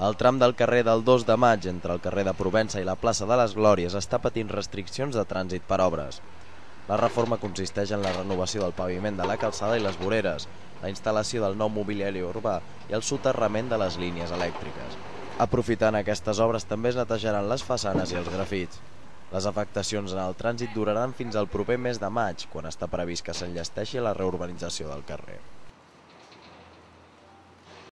El tram del carrer del 2 de Maig entre el carrer de Provença i la plaça de les Glòries està patint restriccions de trànsit per obres. La reforma consisteix en la renovació del paviment de la calçada i les voreres, la instal·lació del nou mobiliari urbà i el soterrament de les línies elèctriques. Aprofitant aquestes obres també es netejaran les façanes i els grafits. Les afectacions en el trànsit duraran fins al proper mes de maig, quan està previst que s'enllesteixi la reurbanització del carrer.